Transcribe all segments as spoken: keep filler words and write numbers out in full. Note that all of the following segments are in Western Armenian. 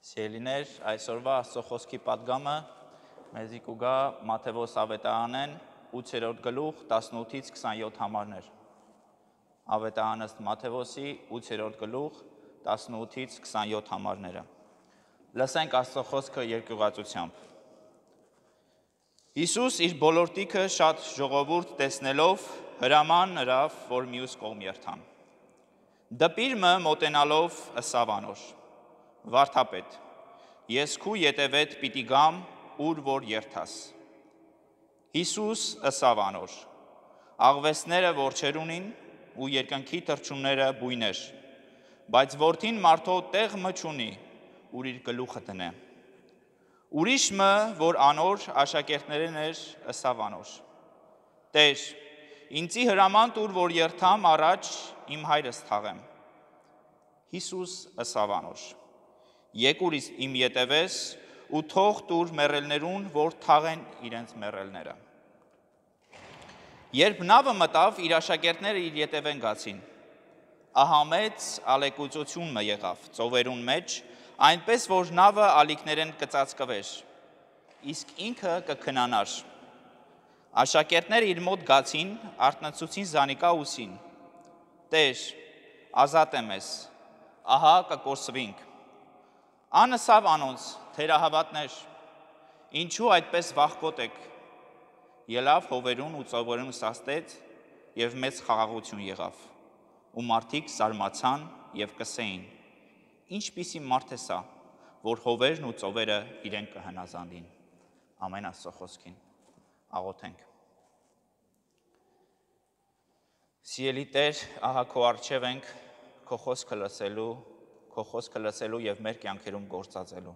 Սիրելիներ, այսօրվա Աստծո Խօսքի պատգամը մեզի կու գայ Մատթեոս աւետարանէն, ութերորդ գլուխ, տասնութից քսանեօթ համարներ։ Աւետարանս Մատթեոսի, ութերորդ գլուխ, տասնութից քսանեօթ համարները։ Լսենք Աստծո Խօսքը երկիւղածութեամբ։ Յիսուս իր բոլորտիքը շատ ժողովուրդ տեսնելով՝ հրաման ըրաւ, որ միւս կողմ երթան։ Դպիր մը մօտենալով՝ ըսաւ անոր. «Վարդապետ, ես քու ետեւէդ պիտի գամ, ուր որ երթաս»։ Յիսուս ըսաւ անոր. «Աղուէսները որջեր ունին ու երկնքի թռչունները՝ բոյներ, բայց Որդին մարդոյ տեղ մը չունի, ուր իր գլուխը դնէ»։ Ուրիշ մը, որ անոր աշակերտներէն էր, ըսաւ անոր. «Տէր, ինծի հրաման տուր, որ երթամ առաջ իմ հայրս թաղեմ»։ Յիսուս ըսաւ անոր. «Եկուր իս իմ ետեւէս ու թող տուր մեռելներուն, որ թաղեն իրենց մեռելները»։ Երբ նաւը մտաւ, իր աշակերտները իր ետեւէն գացին։ Ահա մեծ ալեկոծութիւն մը եղաւ ծովերուն մէջ, այնպէս որ նաւը ալիքներէն կը ծածկուէր, իսկ ինքը կը քնանար։ Աշակերտները իր մօտ գացին, արթնացուցին զանիկա ու ըսին. «Տէր, ազատէ մեզ, ահա կը կորսուինք»։ Ան ըսաւ անոնց. «Թերահաւատներ, ինչո՞ւ այդպէս վախկոտ էք»։ Ելաւ հովերուն ու ծովերուն սաստեց, եւ մեծ խաղաղութիւն եղաւ։ Ու մարդիկ զարմացան եւ կ'ըսէին. «Ինչպիսի մարդ է սա, որ հովերն ու ծովերը իրեն կը հնազանդին»։ Ամէն Աստծո խօսքին։ Աղոթենք։ Սիրելի Տէր, ահա քո առջեւ ենք, քո խօսքը լսելու, քո խօսքը լսելու եւ մեր կյանքերում գործածելու։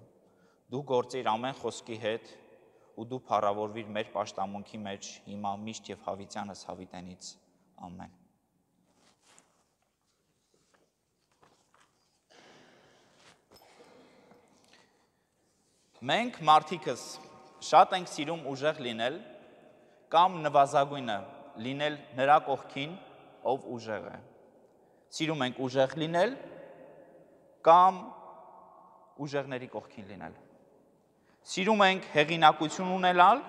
Դու գործիր ամէն խօսքի հետ ու դու փառաւորուիր մեր պաշտամունքի մէջ հիմա, միշտ եւ հավիտյանս հավիտենից։ Ամէն։ Մենք մարդիկս շատ ենք սիրում ուժեղ լինել կամ նուազագոյնը լինել նրա կողքին, ով ուժեղ է։ Սիրում ենք ուժեղ լինել կամ ուժեղների կողքին լինել։ Սիրում ենք հեղինակություն ունենալ,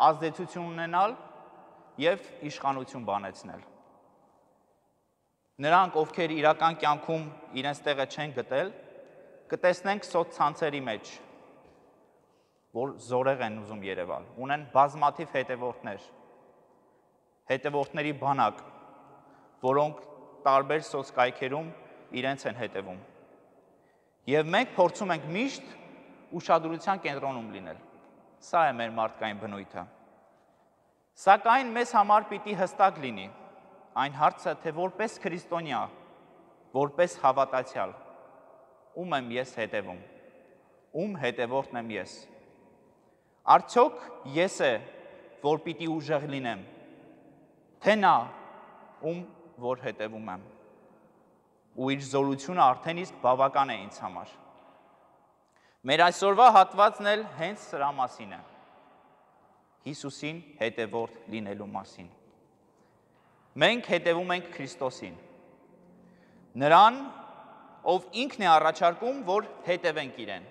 ազդեցություն ունենալ եւ իշխանություն բանեցնել։ Նրանք, ովքեր իրական կյանքում իրենց տեղը չեն գտել, կը տեսնենք սոցցանցերի մէջ, որ զորեղ են ուզում երեւալ, ունեն բազմաթիվ հետեւորդներ, հետեւորդների բանակ, որոնք տարբեր սոցկայքերում իրենց են հետեւում։ Եւ մենք փորձում ենք միշտ ուշադրության կենտրոնում լինել։ Սա է մեր մարդկային բնոյթը։ Սակայն մեզ համար պիտի յստակ լինի այն հարցը, թե որպես քրիստոնեայ, որպես հաւատացեալ, ո՞ւմ եմ ես հետեւում, ո՞ւմ հետեւորդն եմ ես։ Արդյոք ես է, որ պիտի ուժեղ լինեմ, թե՞ նա, ում որ հետեւում եմ։ Ու իր զորությունը արդեն իսկ բաւական է ինձ համար։ Մեր այսօրվա հատուածն էլ հենց սրա մասին է։ Յիսուսին հետեւորդ լինելու մասին։ Մենք հետևում ենք Քրիստոսին, նրան, ով ինքն է առաջարկում, որ հետևենք իրեն։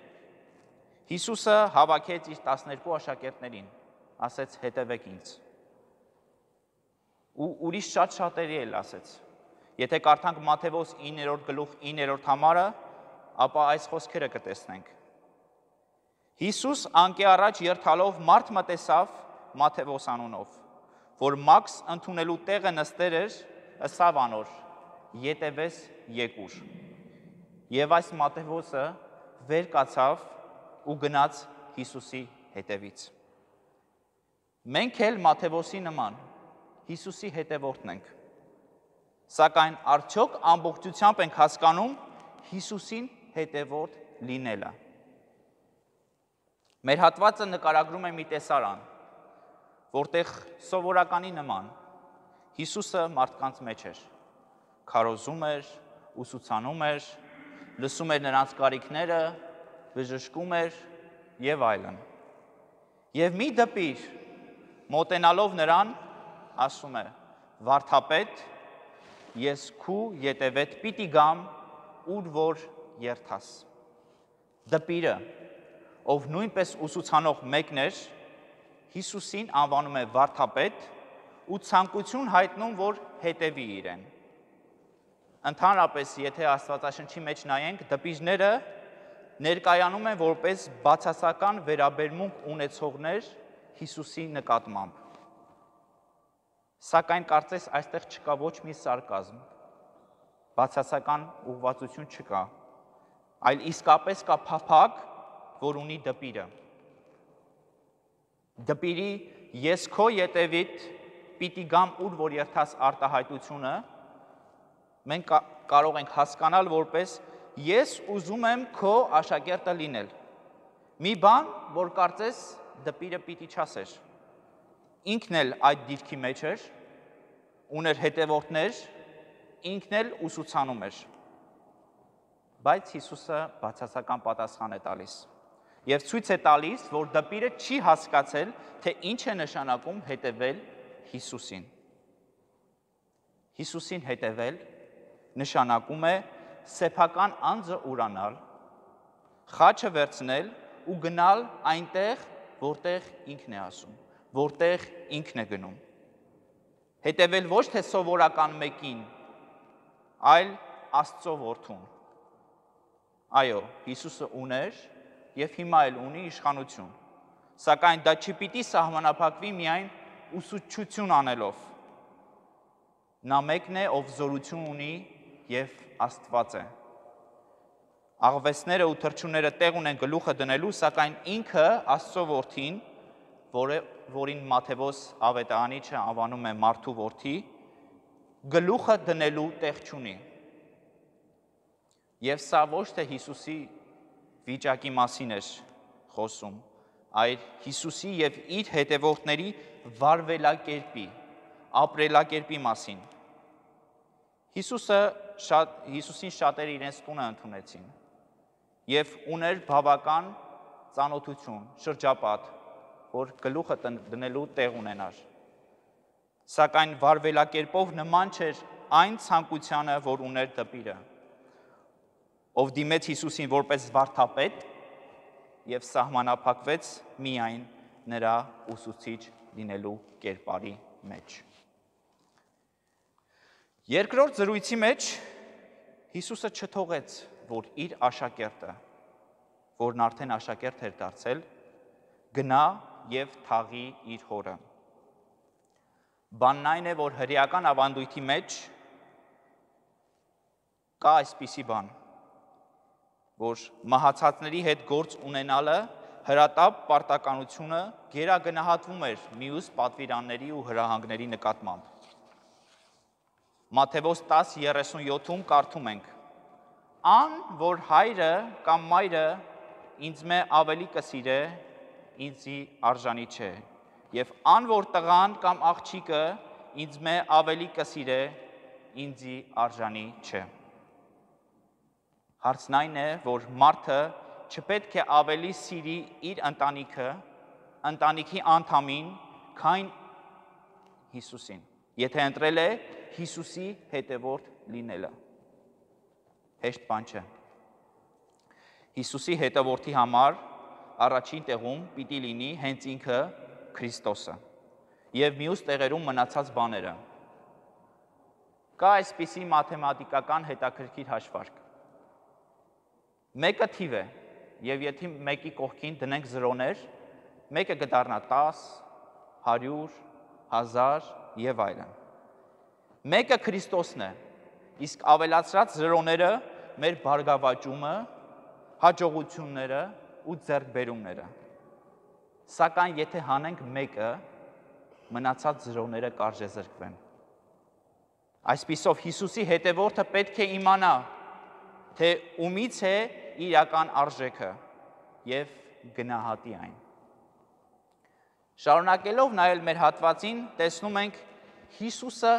Յիսուսը հավաքեց իր տասներկու աշակերտներին, ասեց. «Հետևեք ինձ»։ Ու ուրիշ շատ շատերի էլ ասեց։ Եթե կարդանք Մատթեոս իններորդ գլուխ, իններորդ համարը, ապա այս խօսքերը կը տեսնենք։ Յիսուս անկէ առաջ երթալով մարդ մը տեսաւ Մատթեոս անունով, որ Մաքս ընդունելու տեղը նստեր էր, ըսաւ անոր. «Ետևէս եկուր»։ Եւ այս Մատթեոսը վեր կացաւ ու գնաց Յիսուսի հետևից։ Մենք էլ Մատթեոսի նման Յիսուսի հետևորդն ենք։ Սակայն արդյոք ամբողջությամբ ենք հասկանում Յիսուսին հետևորդ լինելը։ Մեր հատվածը նկարագրում է մի տեսարան, որտեղ սովորականի նման Յիսուսը մարդկանց մէջ էր, քարոզում էր, ուսուցանում էր, լսում էր նրանց կարիքները, բժշկում էր եւ այլն։ Եւ մի դպիր, մոտենալով նրան, ասում է. «Վարդապետ, ես քու ետևէդ պիտի գամ, ուր որ երթաս»։ Դպիրը, ով նոյնպէս ուսուցանող մէկն էր, Յիսուսին անուանում է վարդապետ ու ցանկութիւն յայտնում, որ հետեւի իրեն։ Ընդհանրապէս, եթէ Աստուածաշնչի մէջ նայենք, դպիրները ներկայանում են որպէս բացասական վերաբերմունք ունեցողներ Յիսուսի նկատմամբ։ Սակայն կարծես այստեղ չկայ ոչ մի սարկազմ, բացասական ուղղուածութիւն չկայ, այլ իսկապէս կայ փափաք, որ ունի դպիրը։ Դպիրի «ես քո ետեւիդ պիտի գամ ուր որ երթաս» արտայայտութիւնը մենք կա-, կարող ենք հասկանալ որպէս «ես ուզում եմ քո աշակերտը լինել»։ Մի բան, որ կարծես դպիրը պիտի չասէր։ Ինքն էլ այդ դիրքի մէջ էր, ունէր հետեւորդներ, ինքն էլ ուսուցանում էր։ Բայց Յիսուսը բացասական պատասխան է տալիս եւ ցոյց է տալիս, որ դպիրը չի հասկացել, թէ ինչ է նշանակում հետեւել Յիսուսին։ Յիսուսին հետեւել նշանակում է սեփական անձը ուրանալ, խաչը վերցնել ու գնալ այնտեղ, որտեղ ինքն է ասում, որտեղ ինքն է գնում։ Հետևել ոչ թէ սովորական մեկին, այլ Աստծո Որդուն։ Այո, Յիսուսը ունէր եւ հիմա էլ ունի իշխանութիւն, սակայն դա չի պիտի սահմանափակուի միայն ուսուցչութիւն անելով։ Նա մեկն է, ով զօրութիւն ունի եւ Աստուած է։ Աղուէսները ու թռչունները տեղ ունեն գլուխը դնելու, սակայն ինքը, Աստծո Որդին, որը, որին Մատթեոս Աւետարանիչը անուանում է մարդու որդի, գլուխը դնելու տեղ չունի։ Եւ սա ոչ թէ Յիսուսի վիճակի մասին էր խօսում, այլ Յիսուսի եւ իր հետեւորդների վարուելակերպի, ապրելակերպի մասին։ Յիսուսը շատ, Յիսուսին շատերը իրենց տունը ընդունեցին եւ ուներ բաւական ծանօթութիւն, շրջապատ, որ գլուխը տնէ-, դնելու տեղ ունենար։ Սակայն վարուելակերպով նման չէր այն ցանկությանը, որ ունէր դպիրը, ով դիմեց Յիսուսին որպես վարդապետ եւ սահմանափակվեց միայն նրա ուսուցիչ լինելու կերպարի մէջ։ Երկրորդ զրոյցի մէջ Յիսուսը չթողեց, որ իր աշակերտը, որն արդեն աշակերտ էր դարձել, գնա եւ թաղի իր հօրը։ Բանն այն է, որ հրեական աւանդոյթի մէջ կայ այսպիսի բան, որ մահացածների հետ գործ ունենալը հրատապ պարտականութիւնը գերագնահատվում էր միւս պատուիրանների ու հրահանգների նկատմամբ։ Մատթեոս տասը երեսուն յոթ կարդում ենք. «Ան, որ հայրը կամ մայրը ինձմէ աւելի կը սիրէ, ինծի արժանի չէ, եւ ան, որ տղան կամ աղջիկը ինձմէ աւելի կը սիրէ, ինծի արժանի չէ»։ Հարցն այն է, որ մարդը չպետք է աւելի սիրի իր ընտանիքը, ընտանիքի անդամին, քան Յիսուսին, եթէ ընտրել է Յիսուսի հետեւորդ լինելը։ Հեշտ բան չէ։ Յիսուսի հետեւորդի համար առաջին տեղում պիտի լինի հենց ինքը Քրիստոսը եւ միւս տեղերում մնացած բաները։ Կայ այսպիսի մաթեմատիկական հետաքրքիր հաշվարկ։ Մէկը թիւ է, եւ եթէ մէկի կողքին դնենք զրոներ, մէկը կը դառնայ տաս, հարիւր, հազար եւ այլն։ Մէկը Քրիստոսն է, իսկ աւելացրած զրոները մեր բարգաւաճումը, յաջողութիւնները ու ձեռքբերումները։ Սակայն եթէ հանենք մէկը, մնացած զրոները կարժեզրկուեն։ Այսպիսով, Յիսուսի հետեւորդը պէտք է իմանայ, թէ ումից է իրական արժէքը, եւ գնահատի այն։ Շարունակելով նայել մեր հատուածին, տեսնում ենք՝ Յիսուսը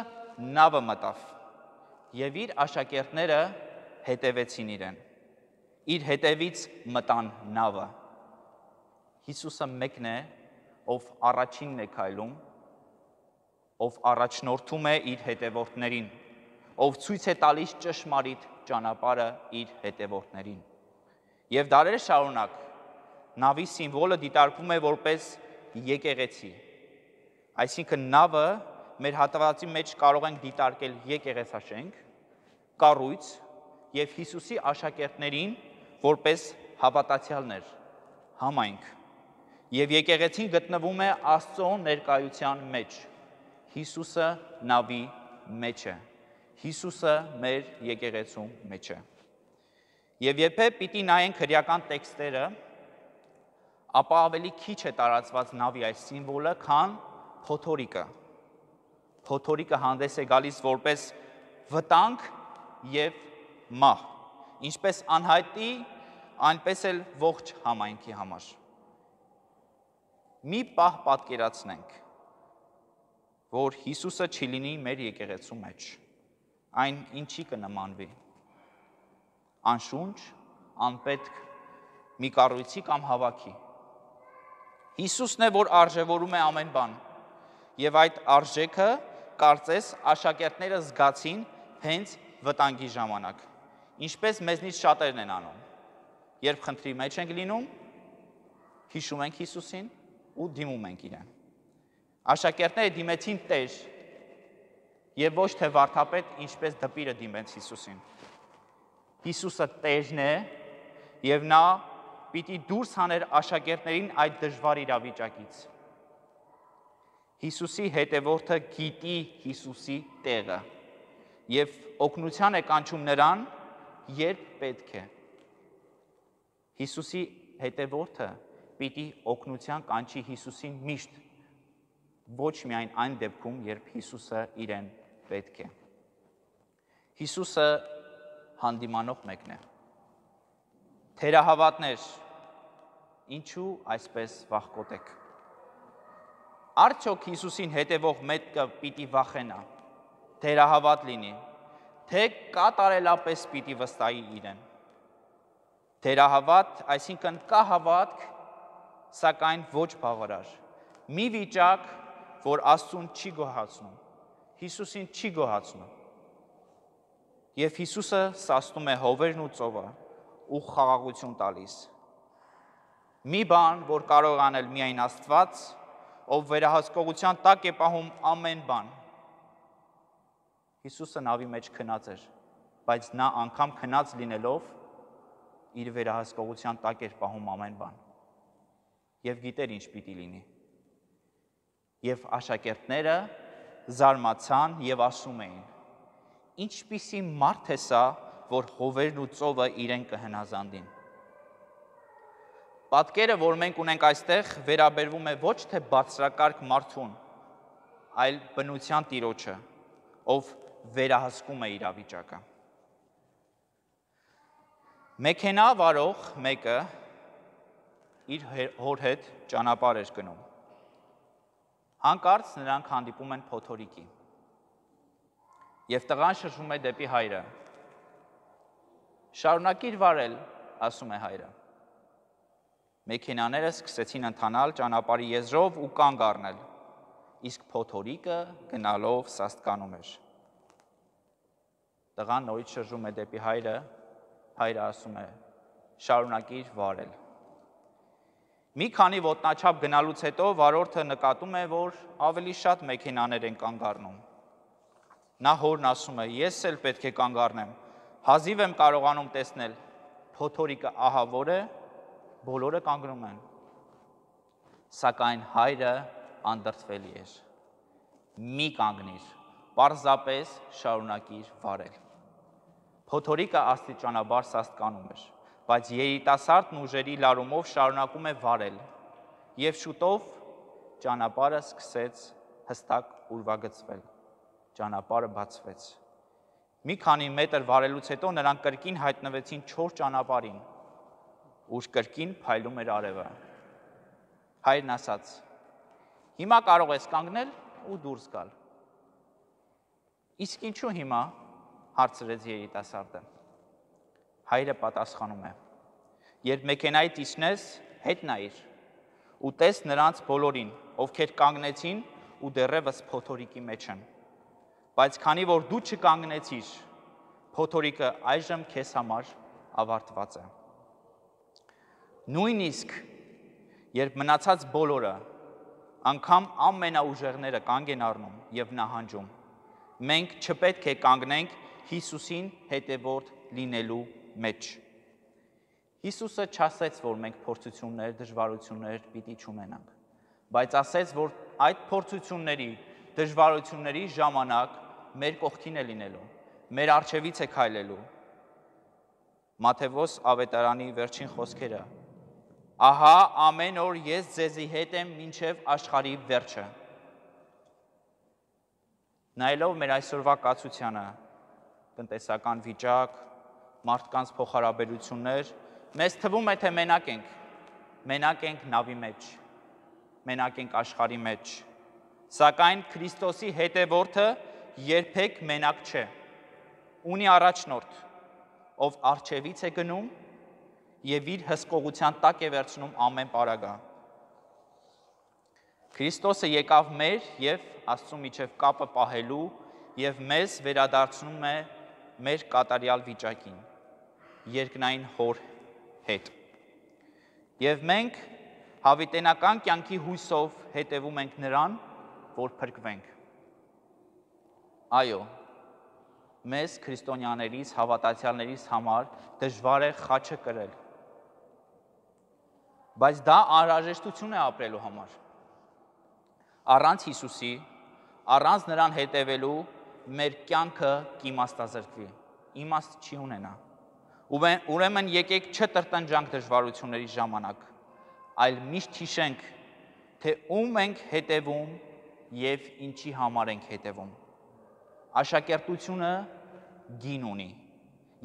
նաւը մտաւ, եւ իր աշակերտները հետեւեցին իրեն։ Իր հետևից մտան նաւը։ Յիսուսը մեկն է, ով առաջինն է քայլում, ով առաջնորդում է իր հետևորդներին, ով ցոյց է տալիս ճշմարիտ ճանապարհը իր հետևորդներին։ Եւ դարեր շարունակ նաւի սիմվոլը դիտարկվում է որպես եկեղեցի։ Այսինքն՝ նաւը մեր հատվածի մէջ կարող ենք դիտարկել եկեղեցաշենք, կառոյց, եւ Յիսուսի աշակերտներին որպես հաւատացեալներ, համայնք։ Եւ եկեղեցին գտնվում է Աստծո ներկայութեան մէջ։ Յիսուսը նաւի մէջ է։ Յիսուսը մեր եկեղեցու մէջ է։ Եւ երբե պիտի նայենք հրեական տեքստերը, ապա ավելի քիչ է տարածուած նաւի այս սիմվոլը, քան փոթորիկը։ Փոթորիկը հանդես է գալիս որպես վտանգ եւ մահ, ինչպես անհայտի, այնպես էլ ողջ համայնքի համար։ Մի պահ պատկերացնենք, որ Յիսուսը չի լինի մեր եկեղեցու մէջ, այն ինչի՞ կը նմանուի։ Անշունչ, անպետք, մի կառոյցի կամ հաւաքի։ Յիսուսն է, որ արժեւորում է ամեն բան, եւ այդ արժեքը, կարծես, աշակերտները զգացին հենց վտանգի ժամանակ, ինչպես մեզնից շատերն են անում։ Երբ խնդրի մէջ ենք լինում, յիշում ենք Յիսուսին ու դիմում ենք իրեն։ Աշակերտները դիմեցին Տէր եւ ոչ թե վարդապետ, ինչպես դպիրը դիմեց Յիսուսին։ Յիսուսը Տէրն է եւ նա պիտի դուրս հաներ աշակերտներին այդ դժուար իրավիճակից։ Յիսուսի հետեւորդը գիտի Յիսուսի տեղը եւ օգնութեան է կանչում նրան, երբ պէտք է։ Յիսուսի հետեւորդը պիտի օգնութեան կանչի Յիսուսին միշտ, ոչ միայն այն դեպքում, երբ Յիսուսը իրեն պէտք է։ Յիսուսը հանդիմանող մեկն է։ Թերահաւատներ, ինչու այսպես վախկոտ եք։ Արդյոք Յիսուսին հետեւող մեկը պիտի վախենա, թերահաւատ լինի, թէ՞ կատարելապէս պիտի վստահի իրեն։ Թերահաւատ, այսինքն՝ կայ հաւատք, սակայն ոչ բաւարար։ Մի վիճակ, որ Աստծուն չի գոհացնում, Յիսուսին չի գոհացնում։ Եւ Յիսուսը սաստում է հովերն ու ծովը ու խաղաղութիւն տալիս։ Մի բան, որ կարող է անել միայն Աստուած, ով վերահսկողութեան տակ է պահում ամեն բան։ Յիսուսը նաւի մէջ քնած էր, բայց նա անգամ քնած լինելով՝ իր վերահսկողութեան տակ էր պահում ամեն բան եւ գիտեր ինչ պիտի լինի։ Եւ աշակերտները զարմացան եւ ասում էին. «Ինչպիսի մարդ է սա, որ հովերն ու ծովը իրեն կը հնազանդին»։ Պատկերը, որ մենք ունենք այստեղ, վերաբերվում է ոչ թե բարձրակարգ մարդուն, այլ բնության տիրոջը, ով վերահսկում է իրավիճակը։ Մեքենայ վարող մէկը իր հե-, հօր հետ ճանապարհ էր գնում։ Յանկարծ նրանք հանդիպում են փոթորիկի։ Եւ տղան շրջում է դէպի հայրը։ «Շարունակիր վարել», ասում է հայրը։ Մեքենաները սկսեցին ընթանալ ճանապարհի եզրով ու կանգ առնել, իսկ փոթորիկը գնալով սաստկանում էր։ Տղան նորից շրջում է դէպի հայրը, հայրը ասում է. «Շարունակիր վարել»։ Մի քանի ոտնաչափ գնալուց հետո վարորդը նկատում է, որ ավելի շատ մեքենաներ են կանգ առնում։ Նա հորն ասում է. «Ես էլ պէտք է կանգ առնեմ, հազիւ եմ կարողանում տեսնել, փոթորիկը ահա որ է, բոլորը կանգնում են»։ Սակայն հայրը անդրդվելի էր։ «Մի կանգնիր, պարզապէս շարունակիր վարել»։ Փոթորիկը աստիճանաբար սաստկանում էր, բայց երիտասարդն ուժերի լարումով շարունակում է վարել, եւ շուտով ճանապարհը սկսեց հստակ ուրվագծվել։ Ճանապարհը բացվեց։ Մի քանի մետր վարելուց հետո նրանք կրկին հայտնվեցին չոր ճանապարհին, ուր կրկին փայլում էր արեւը։ Հայրն ասաց. «Հիմա կարող ես կանգնել ու դուրս գալ»։ «Իսկ ինչու՞ հիմա»՝ հարցրեց երիտասարդը։ Հայրը պատասխանում է. «Երբ մեքենայից իջնես, հետ նայիր ու տես նրանց բոլորին, ովքեր կանգնեցին ու դեռեւս փոթորիկի մեջ են։ Բայց քանի որ դու չկանգնեցիր, փոթորիկը այժմ քեզ համար ավարտուած է»։ Նոյնիսկ երբ մնացած բոլորը, անգամ ամենաուժեղները կանգ են առնում եւ նահանջում, մենք չպետք է կանգնենք Յիսուսին հետեւորդ լինելու մեջ։ Յիսուսը չասեց, որ մենք փորձութիւններ, դժուարութիւններ պիտի չունենանք, բայց ասեց, որ այդ փորձութիւնների, դժուարութիւնների ժամանակ մեր կողքին է լինելու, մեր առջեւից է քայլելու։ Մատթեոս աւետարանի վերջին խօսքերը. «Ահա, ամէն օր ես ձեզի հետ եմ մինչեւ աշխարհի վերջը»։ Նայելով մեր այսօրվա կացությանը, տնտեսական վիճակ, մարդկանց փոխհարաբերություններ, մեզ թվում է, թե մենակ ենք, մենակ ենք նաւի մեջ, մենակ ենք աշխարհի մեջ, սակայն Քրիստոսի հետեւորդը երբեք մենակ չէ, ունի առաջնորդ, ով առջեւից է գնում եւ իր հսկողութեան տակ է վերցնում ամէն պարագա։ Քրիստոսը եկաւ մեր եւ Աստծու միջեւ կապը պահելու եւ մեզ վերադարձնում է մեր կատարեալ վիճակին, երկնային Հօր հետ։ Եւ մենք յաւիտենական կեանքի յուսով հետեւում ենք Նրան, որ փրկուենք։ Այո, մեզ քրիստոնեաներիս, հաւատացեալներիս համար դժուար է խաչը կրել, բայց դա անհրաժեշտութիւն է ապրելու համար։ Առանց Յիսուսի, առանց Նրան հետեւելու մեր կեանքը կ'իմաստազրկուի, իմաստ չի ունենայ։ Ուրեմն, ուրեմն եկէք չտրտնջանք դժուարութիւնների ժամանակ, այլ միշտ յիշենք, թե ում ենք հետեւում եւ ինչի համար ենք հետեւում։ Աշակերտությունը գին ունի,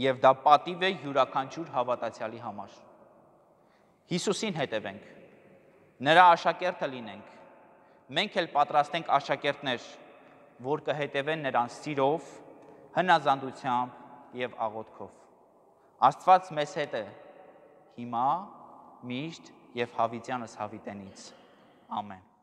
եւ դա պատիւ է իւրաքանչիւր հաւատացեալի համար։ Յիսուսին հետեւենք, Նրա աշակերտը լինենք, մենք էլ պատրաստենք աշակերտներ, որ կը հետեւեն Նրան սիրով, հնազանդությամբ եւ աղօթքով։ Աստուած մեզ հետ է, հիմա, միշտ եւ յաւիտեանս յաւիտենից։ Ամէն։